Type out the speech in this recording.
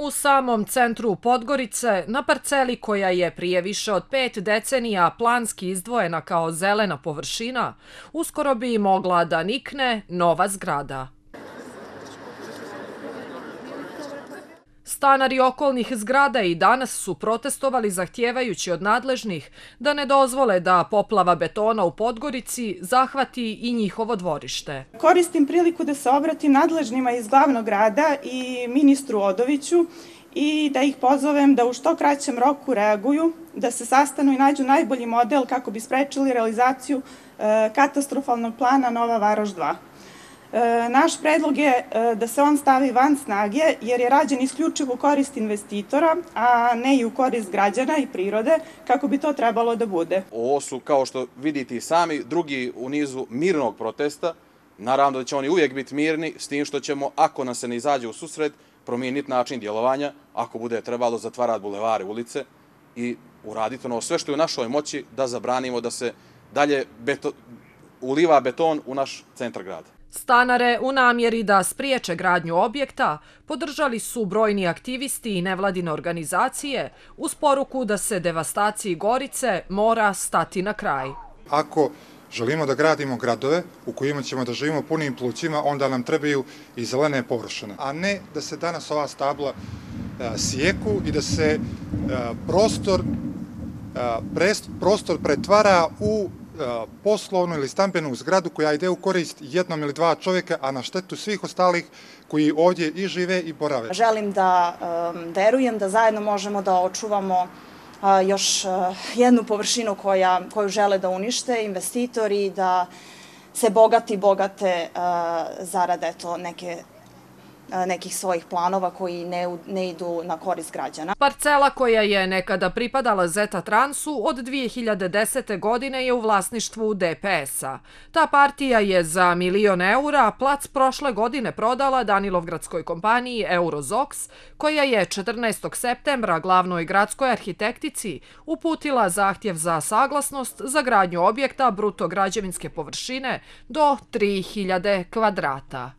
U samom centru Podgorice, na parceli koja je prije više od 5 decenija planski izdvojena kao zelena površina, uskoro bi mogla da nikne nova zgrada. Stanari okolnih zgrada i danas su protestovali zahtijevajući od nadležnih da ne dozvole da poplava betona u Podgorici zahvati i njihovo dvorište. Koristim priliku da se obratim nadležnima iz glavnog grada i ministru Odoviću i da ih pozovem da u što kraćem roku reaguju, da se sastanu i nađu najbolji model kako bi sprečili realizaciju katastrofalnog plana Nova Varoš 2. Naš predlog je da se on stavi van snage jer je rađen isključivo u korist investitora, a ne i u korist građana i prirode, kako bi to trebalo da bude. Ovo su, kao što vidite i sami, drugi u nizu mirnog protesta. Naravno da će oni uvijek biti mirni, s tim što ćemo, ako nam se ne izađe u susret, promijeniti način djelovanja, ako bude trebalo zatvarati bulevare, ulice i uraditi ono sve što je u našoj moći da zabranimo da se dalje uliva beton u naš centar grada. Stanare u namjeri da spriječe gradnju objekta podržali su brojni aktivisti i nevladine organizacije uz poruku da se devastaciji Gorice mora stati na kraj. Ako želimo da gradimo gradove u kojima ćemo da živimo punim plućima, onda nam trebaju i zelene površine, a ne da se danas ova stabla sijeku i da se prostor pretvara u poslovnu ili stambenu zgradu koja ide u korist jednom ili dva čovjeka, a na štetu svih ostalih koji ovdje i žive i borave. Želim da verujem da zajedno možemo da očuvamo još jednu površinu koju žele da unište investitori, da se bogate zarade nekih svojih planova koji ne idu na korist građana. Parcela koja je nekada pripadala Zeta Transu od 2010. godine je u vlasništvu DPS-a. Ta partija je za €1 milion plac prošle godine prodala Danilovgradskoj kompaniji Eurozox, koja je 14. septembra glavnoj gradskoj arhitektici uputila zahtjev za saglasnost za gradnju objekta bruto građevinske površine do 3000 kvadrata.